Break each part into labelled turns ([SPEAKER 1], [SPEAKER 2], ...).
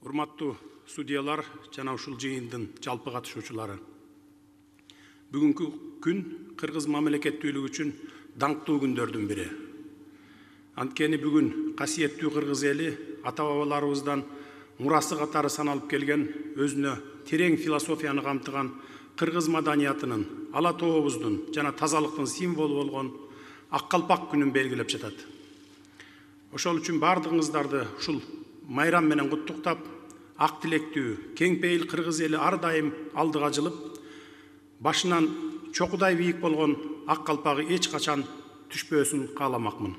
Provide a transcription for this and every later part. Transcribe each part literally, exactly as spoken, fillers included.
[SPEAKER 1] Урматтуу судьялар жана ушул жыйындын жалпы катышуучулары. Бүгүнкү күн кыргыз мамлекеттүүлүгү үчүн даңктуу күндөрдүн бири. Анткени бүгүн касиеттүү кыргыз эли ата-бабаларыбыздан мурасы катары саналып келген өзүнө терең философияны камтыган кыргыз маданиятынын, ала тообуздун жана тазалыктын символу болгон ак калпак күнүн белгилеп жатат. Ошол үчүн бардыгыңыздарды ушул майрам менен куттуктап, ак тилектүү, кең пейил кыргыз эли ар дайым алдыга жылып, башынан чокудай бийик болгон ак калпагы эч качан түшпөсүн кааламакмын.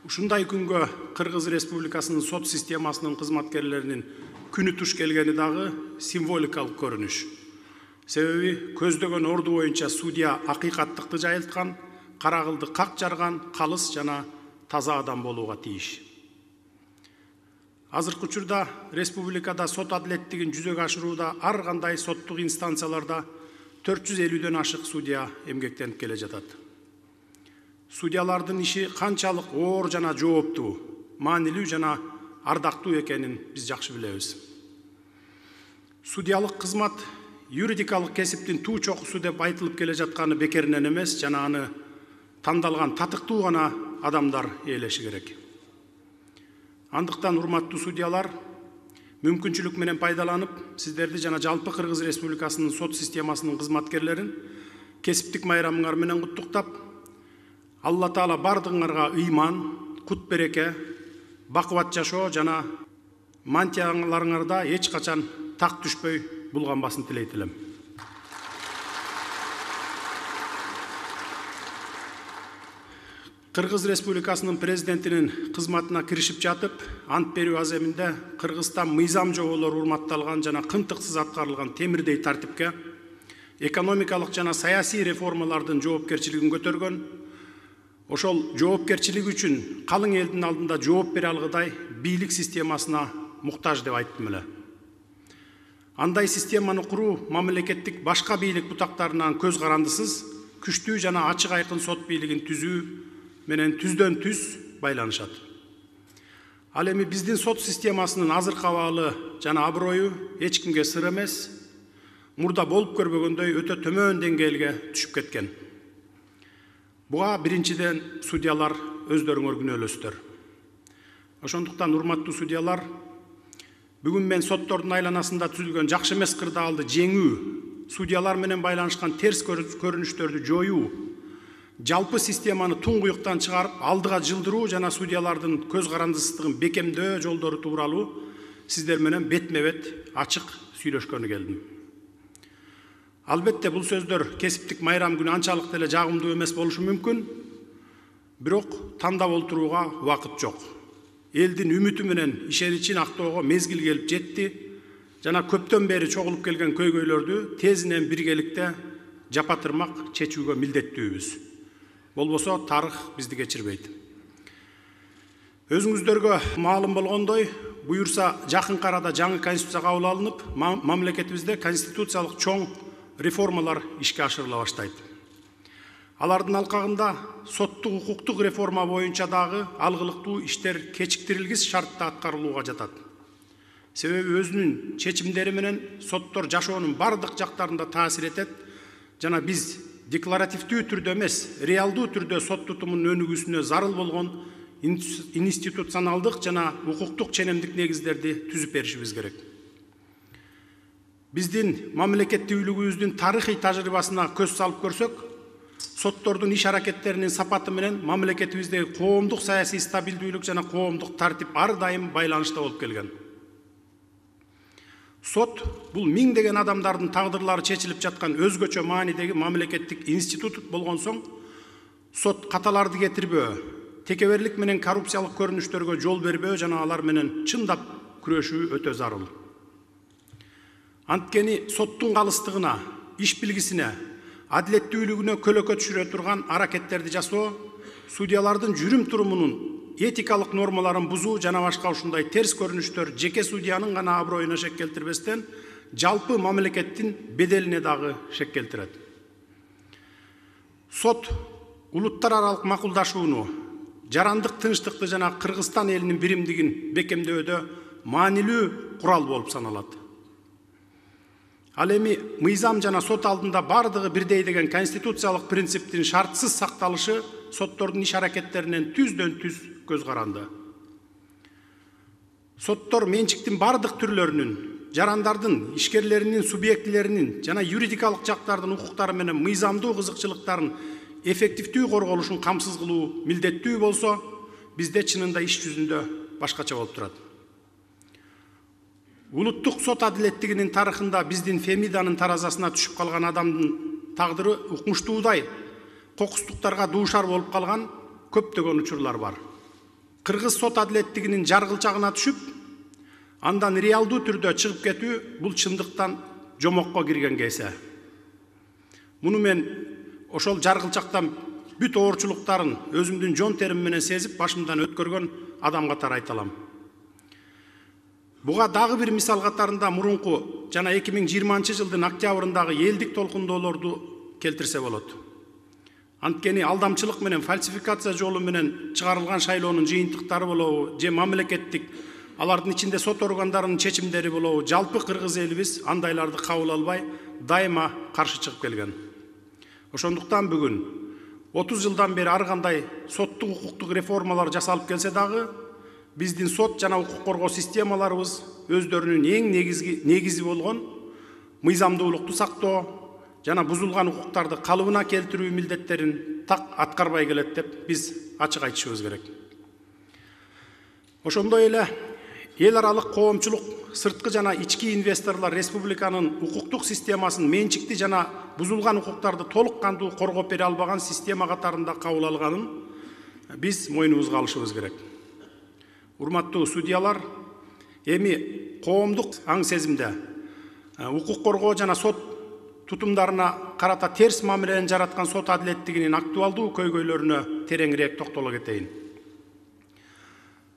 [SPEAKER 1] Ушундай күнгө Кыргыз Республикасынын сот системасынын кызматкерлеринин күнү туш келгени дагы символикалык көрүнүш. Себеби көздөгөн орду боюнча судья акыйкаттыкты жайылткан, карагылды как жарган, калыс жана таза адам болууга тийиш. Азыркы учурда республикада сот адилеттигин жүзөгө ашырууда ар кандай соттук инстанцияларда төрт жүз элүүдөн ашык судья эмгектенип келе жатат. Судьялардын иши канчалык оор жана жооптуу, маанилүү жана ардактуу экенин биз жакшы билебиз. Судьялык кызмат юридикалык кесиптин туу чокусу деп айтылып келе жатканы бекеринен эмес, жана аны тандалган татыктуу гана адамдар ээлеши керек. Андыктан урматтуу судьялар, мүмкүнчүлүк менен пайдаланып, сиздерди жана жалпы Кыргыз Республикасынын сот системасынын кызматкерлерин кесиптик майрамыңар менен куттуктап, Алла Таала бардыгыңарга ыйман, кут береке, бакубат жашоо жана мантияларыңарда эч качан так түшпөй булганбасын тилейт элем. Кыргыз Республикасынын президентинин кызматына киришип жатып, ант берүү аземинде Кыргызстан мыйзам жоболору урматталган жана кымтыксыз аткарылган темирдей тартипке, экономикалык жана саясий реформалардын жоопкерчилигин көтөргөн, ошол жоопкерчилиги үчүн калың элдин алдында жооп бере алгыдай бийлик системасына муктаж деп айттым эле. Андай системаны куруу мамлекеттик башка бийлик бутактарынан көз карандысыз, күчтүү жана ачык айкын сот бийлигин түзүү менен түздөн түз байланышат. Ал эми биздин сот системасынын азыркы абалы жана аброю эч кимге сыр эмес, мурда болуп көрбөгөндөй өтө төмөн деңгээлге түшүп кеткен. Буга биринчиден судьялар өздөрүңөр күнөөлөсүздөр. Ошондуктан урматтуу судьялар, бүгүн мен соттордун айланасында түзүлгөн жакшы эмес кырдаалды жеңүү, судьялар менен байланышкан терс көрүнүштөрдү жоюу, жалпы системаны туңгуюктан чыгарып алдыга жылдыруу жана судьялардын көз карандысыздыгын бекемдөө жолдору тууралуу сиздер менен бетме-бет ачык сүйлөшкөнү келдим. Албетте бул сөздөр кесиптик майрам күнү анчалык деле жагымдуу эмес болушу мүмкүн, бирок тандап олтурууга убакыт жок. Элдин үмүтү менен ишеничин актоого мезгил келип жетти жана көптөн бери чогулуп келген көйгөйлөрдү тезинен биргеликте жапатырмак чечүүгө милдеттүүбүз. Болбосо тарых бизди кечирбейт. Өзүңүздөргө маалым болгондой, буюрса жакын арада жаңы конституция кабыл алынып, мамлекетибизде конституциялык чоң реформалар ишке ашырыла баштайт. Алардын алкагында соттук укуктук реформа боюнча дагы алгылыктуу иштер кечиктирилгис шартта аткарылууга жатат. Себеби өзүнүн чечимдери менен соттор жашоонун бардык жактарында таасир этет жана биз декларативдүү түрдө эмес, реалдуу түрдө сот тутумунун өнүгүүсүнө зарыл болгон институционалдык жана укуктук ченемдик негиздерди түзүп беришибиз керек. Биздин мамлекеттүүлүгүбүздүн тарыхый тажрыйбасына көз салып көрсөк, соттордун иш аракеттеринин сапаты менен мамлекетибиздеги коомдук саясий стабилдүүлүк жана коомдук тартип ар дайым байланышта болуп келген. Сот бул миңдеген адамдардын тагдырлары чечилип жаткан өзгөчө маанидеги мамлекеттик институт болгон соң, сот каталарды кетирбөө, текеберлик менен коррупциялык көрүнүштөргө жол бербөө жана алар менен чындап күрөшүү өтө зарыл. Анткени соттун калыстыгына, иш билгисине, адилеттүүлүгүнө көлөкө түшүрө турган аракеттерди жасоо, судьялардын жүрүм турумунун этикалык нормаларын бузуу жана башка ушундай терс көрүнүштөр жеке судьянын гана аброюна шек келтирбестен, жалпы мамлекеттин беделине дагы шек келтирет. Сот улуттар аралык макулдашууну, жарандык тынчтыкты жана Кыргызстан элинин биримдигин бекемдөөдө маанилүү курал болуп саналат. Ал эми мыйзам жана сот алдында бардыгы бирдей деген конституциялык принциптин шартсыз сакталышы соттордун иш аракеттеринен түздөн түз көз каранды. Соттор менчиктин бардык түрлөрүнүн, жарандардын, ишкерлеринин, субъектилеринин жана юридикалык жактардын укуктары менен мыйзамдуу кызыкчылыктарын эффективдүү корголушун камсыз кылуу милдеттүү болсо, бизде чынында иш жүзүндө башкача болуп турат. Улуттук сот адилеттигинин тарыхында биздин Фемиданын таразасына түшүп калган адамдын тагдыры укмуштуудай кокустуктарга дуушар болуп калган көптөгөн учурлар бар. Кыргыз сот адилеттигинин жаргылчагына түшүп, андан реалдуу түрдө чыгып кетүү бул чындыктан жомокко кирген кесе. Муну мен ошол жаргылчактан бүт оорчулуктарын өзүмдүн жон терим менен сезип башымдан өткөргөн адам катары айта алам. Буга дагы бир мисал катарында мурунку жана эки миң жыйырманчы жылдын октябрындагы элдик толкундоолорду келтирсе болот. Анткени алдамчылык менен фальсификация жолу менен чыгарылган шайлоонун жыйынтыктары болобу, же мамлекеттик, алардын ичинде сот органдарынын чечимдери болобу, жалпы кыргыз элибиз андайларды кабыл албай, дайыма каршы чыгып келген. Ошондуктан бүгүн отуз жылдан бери ар кандай соттук укуктук реформалар жасалып келсе дагы, биздин сот жана укук коргоо системаларыбыз өздөрүнүн эң негизги негизи болгон мыйзамдуулукту сактоо жана бузулган укуктарды калыбына келтирүү милдеттерин так аткарбай келет деп биз ачык айтышыбыз керек. Ошондой эле эл аралык коомчулук, сырткы жана ички инвесторлор республиканын укуктук системасын менчикти жана бузулган укуктарды толук кандуу коргоп бере албаган система катарында кабыл алганын биз мойнубузга алышыбыз керек. Урматтуу судьялар, эми коомдук аң сезимде укук коргоо жана сот тутумдарына карата терс мамилени жараткан сот адилеттигинин актуалдуу көйгөйлөрүнө тереңирээк токтоло кетейин.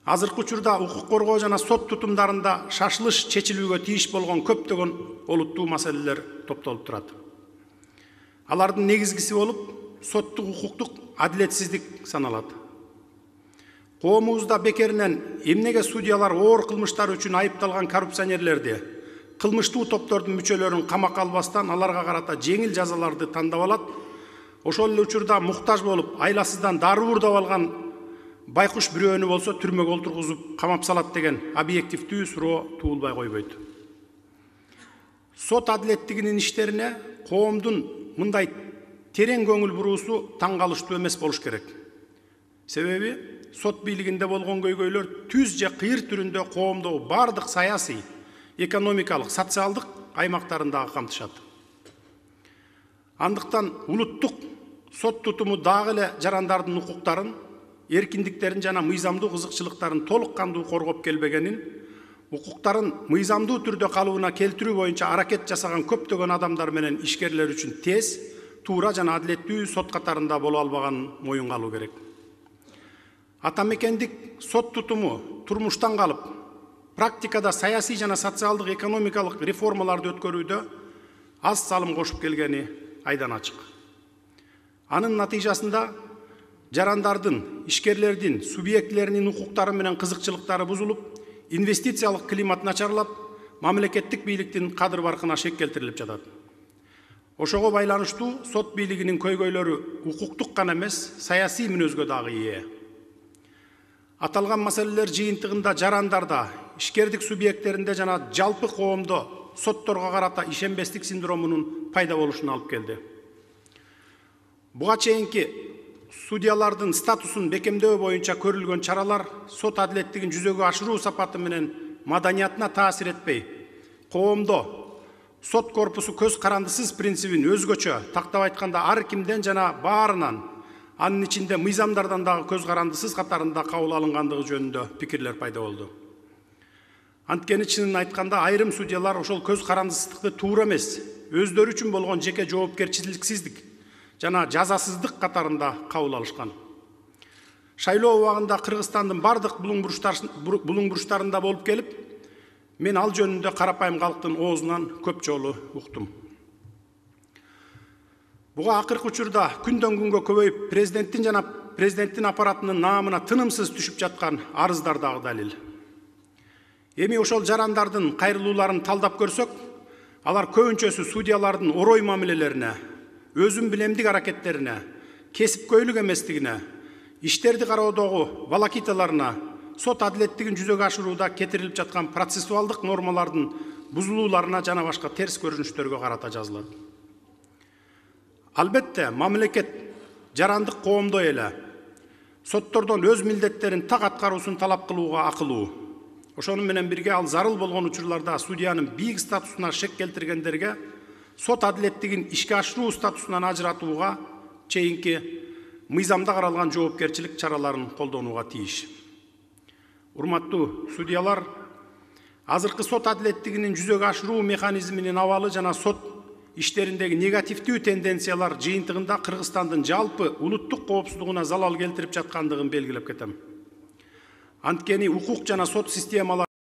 [SPEAKER 1] Азыркы учурда укук коргоо жана сот тутумдарында шашылыш чечилүүгө тийиш болгон көптөгөн олуттуу маселелер топтолуп турат. Алардын негизгиси болуп, соттук укуктук адилетсиздик саналат. Коомубузда бекеринен эмнеге судьялар оор кылмыштар үчүн айыпталган коррупционерлерди, кылмыштуу топтордун мүчөлөрүн камакка албастан аларга карата жеңил жазаларды тандап алат, ошол эле учурда муктаж болуп, айласыздан дару уурдап алган байкуш бирөөнү болсо түрмөгө олтургузуп камап салат деген объективдүү суроо туулбай койбойт. Сот адилеттигинин иштерине коомдун мындай терең көңүл буруусу таң калыштуу эмес болуш керек. Себеби сот бийлигинде болгон көйгөйлөр түз же кыйыр түрүндө коомдогу бардык саясий, экономикалык, социалдык аймактарындагы камтышат. Андыктан улуттук сот тутуму дагы эле жарандардын укуктарын, эркиндиктерин жана мыйзамдуу кызыкчылыктарын толук кандуу коргоп келбегенин, укуктарын мыйзамдуу түрдө калыбына келтирүү боюнча аракет жасаган көптөгөн адамдар менен ишкерлер үчүн тез, туура жана адилеттүү сот катарында боло албаганын моюнга алуу керек. Атамекендик сот тутуму турмуштан калып, практикада саясий жана социалдык экономикалык реформаларды өткөрүүдө аз салым кошуп келгени айдан ачык. Анын натыйжасында жарандардын, ишкерлердин, субъектилеринин укуктары менен кызыкчылыктары бузулуп, инвестициялык климат начарлап, мамлекеттик бийликтин кадыр баркына шек келтирилип жатат. Ошого байланыштуу сот бийлигинин көйгөйлөрү укуктук гана эмес, саясий мүнөзгө дагы ээ. Аталган маселелер жыйынтыгында жарандарда, ишкердик субъекттеринде жана жалпы коомдо сотторго карата ишенбестик синдромунун пайда болушуна алып келди. Буга чейинки судьялардын статусун бекемдөө боюнча көрүлгөн чаралар сот адилеттигин жүзөгө ашыруу сапаты менен маданиятына таасир этпей, коомдо сот корпусу көз карандысыз принцибин өзгөчө, тактап айтканда ар кимден жана баарынан, анын ичинде мыйзамдардан дагы көз карандысыз катарында кабыл алынгандыгы жөнүндө пикирлер пайда болду. Анткени чынын айтканда айрым судьялар ошол көз карандысыздыкты туура эмес, өздөрү үчүн болгон жеке жоопкерчиликсиздик жана жазасыздык катарында кабыл алышкан. Шайлоо убагында Кыргызстандын бардык булуң буруштарында болуп келип, мен ал жөнүндө карапайым калктын оозунан көп жолу уктум. Буга акыркы учурда күндөн күнгө көбөйүп, президенттин жана президенттин аппаратынын наамына тынымсыз түшүп жаткан арыздар дагы далил. Эми ошол жарандардын кайрылууларын талдап көрсөк, алар көбүнчөсү судьялардын орой мамилелерине, өзүн билемдик аракеттерине, кесипкөйлүк эместигине, иштерди кароодогу волокиталарына, сот адилеттигин жүзөгө ашырууда кетирилип жаткан процессуалдык нормалардын бузулууларына жана башка терс көрүнүштөргө карата жазылат. Албетте, мамлекет жарандык коомдой эле соттордон өз милдеттерин так аткаруусун талап кылууга акылуу. Ошону менен бирге ал зарыл болгон учурларда судьянын бийик статусуна шек келтиргендерге сот адилеттигин ишке ашыруу статусунан ажыратууга чейинки мыйзамда каралган жоопкерчилик чараларын колдонууга тийиш. Урматтуу судьялар, азыркы сот адилеттигинин жүзөгө ашыруу механизминин абалы жана сот иштериндеги негативдүү тенденциялар жыйынтыгында Кыргызстандын жалпы улуттук коопсуздугуна залал келтирип жаткандыгын белгилеп кетем. Анткени укук жана сот системалары